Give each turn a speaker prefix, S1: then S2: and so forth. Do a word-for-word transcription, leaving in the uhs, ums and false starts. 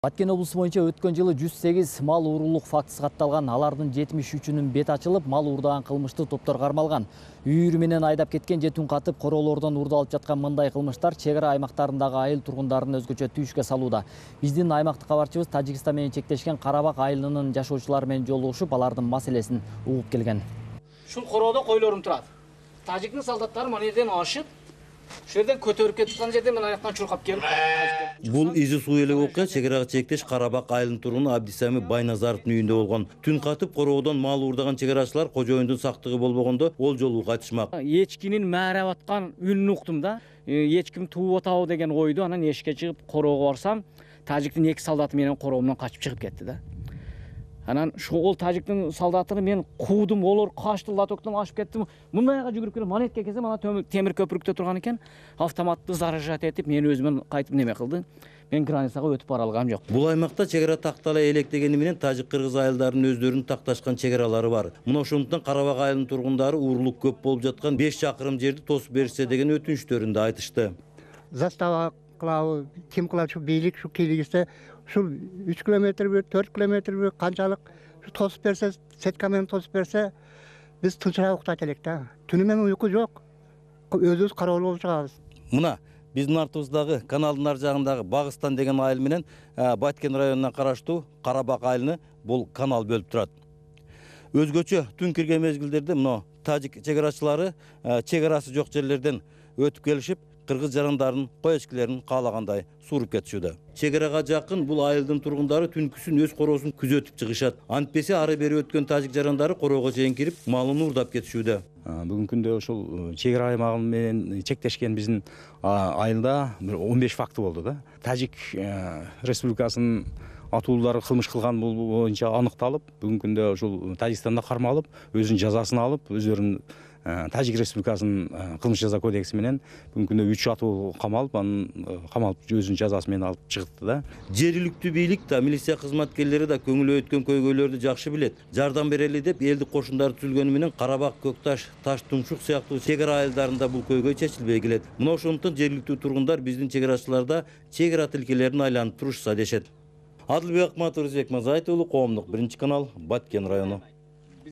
S1: Баткен облусу боюнча өткөн жылы жүз сегиз мал уурулук фактысы катталган. Алардын жетимиш үчүнүн бет ачылып, мал уурдаган кылмыштуу топтор кармалган. Үйүрү менен айдап кеткен же түн катып короолордон уурдалып жаткан мындай кылмыштар чек ара аймактарындагы айыл тургундарын өзгөчө түйүшкө салууда. Биздин аймактык кабарчыбыз Тажикстан менен чектешкен Карабак айылынын жашоочулары менен жолугушуп, алардын маселесин угуп келген.
S2: Ушул короодо койлорум турат. Тажиктин солдаттары мына жерден ашып, ушул жерден көтөрүп кеткен жерден мен аяктан чуркап келип.
S3: Бул изи суу эле окуя чек арага чектеш Карабак айылынын тургуну Абдисами Байназаровдун үйүндө болгон. Түн катып короодон мал уурдаган чек арачылар кожоюндун сактыгы болбогондо ол жолу кайтышмак.
S2: Эчкинин мээреп аткан үнүн уктум да. Эчким тууп атабы деген ойду, анан эшикке чыгып короого барсам, тажиктин эки солдаты менен короомдон качып чыгып кетти да. Анан ошол тажиктин солдаттары мен куудум, олор качты, лотоктон ашып кетти. Мындайга жүгүрүп келип монетке келсем, ана темир көпүрүктө турган экен. Автоматты заражать этип, мени өзүмөн кайтып неме кылды. Мен границага өтүп бара алгам жок.
S3: Бул аймакта чек ара тактала электегени менен тажик-кыргыз айылдарынын өздөрүнүн такташкан чек аралары бар. Мына ошондуктан Карабак айылынын тургундары уурулук көп болуп жаткан беш чакырым жерди тосуп беришсе деген өтүнүчтөрүн да айтышты.
S4: Застава кылабы, ким кылат, ушу бийлик, ушу кийлигисе, ушул үч километрби, төрт километрби канчалык тосуп берсе, сетка менен тосуп берсе, биз тынчыраак уктайт элек да. Түнү менен уйку жок. Өзүбүз кароол болуп чыгабыз.
S3: Мына биздин артыбыздагы каналдын ар жагындагы Багыстан деген айыл менен Баткен районуна караштуу Карабак айылыны бул канал бөлүп турат. Өзгөчө түн кирген мезгилдерде мына тажик чек арачылары чек арасы жок жерлерден өтүп келишип, кыргыз жарандарын, кой эчкилерин каалагандай сууруп кетишүүдө. Чек арага жакын бул айылдын тургундары түнкүсүн өз короосун күзөтүп чыгышат. Антпесе ары бери өткөн тажик жарандары короого чейин кирип, малын уурдап кетишүүдө.
S5: Бүгүнкү күндө ушул чек ара аймагы менен чектешкен биздин айылда он беш факты болду да. Тажик республикасынын атуулары кылмыш кылган боюнча аныкталып, бүгүнкү күндө ушул Тажикстанда кармалып, өзүнүн жазасын алып, өздөрүнүн Тажик республикасынын кылмыш жаза кодекси менен бүгүнкү күндө үч атуу камалып, анын камалып өзүнүн жазасы менен алып чыгытты да.
S3: Жергиликтүү бийлик да, милиция кызматкерлери да көңүлү өткөн көйгөйлөрдү жакшы билет. Жардам берели деп элдик кошундары түзүлгөнү менен Карабак, Көкташ, Таш Тумшук сыяктуу чек ара айылдарында бул көйгөй чечилбей келет. Мына ошондуктан жергиликтүү тургундар биздин чек арачыларда чек ара тилкелерин айланып турушса дешет. Адылбек Акматов, Рызбек Мазайтов уулу, Коомдук биринчи канал, Баткен району.